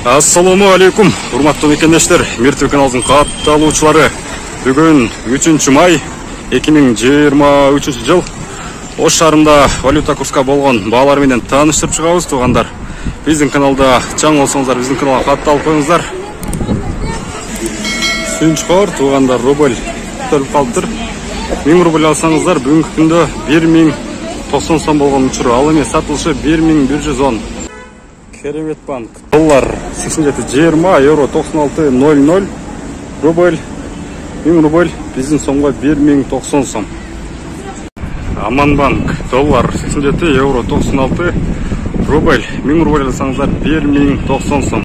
Ассаламу алейкум, урматтуу мекендештер, Миртүү каналдын катталуучулары. Бүгүн 3 май 2023 жыл. Ош шаарында валюта курска болгон баалар менен тааныштырып чыгабыз, туугандар. Биздин каналда чаң болсоңуздар, биздин каналга катталып коюңуздар. Сүнчкор туугандар, рубль көтөрүлүп калыптыр. 1000 рубль алсаңыздар, бүгүнкү күндө 1090 сом болгон учуру, ал эми сатылышы 1110. Керемет банк. Доллар 87.20, евро 96.00, рубль 1000 рубль биздин сомго 1090 сом. Аман банк. Доллар 87, евро 96, рубль 1000 рубль алсаңыздар 1090 сом.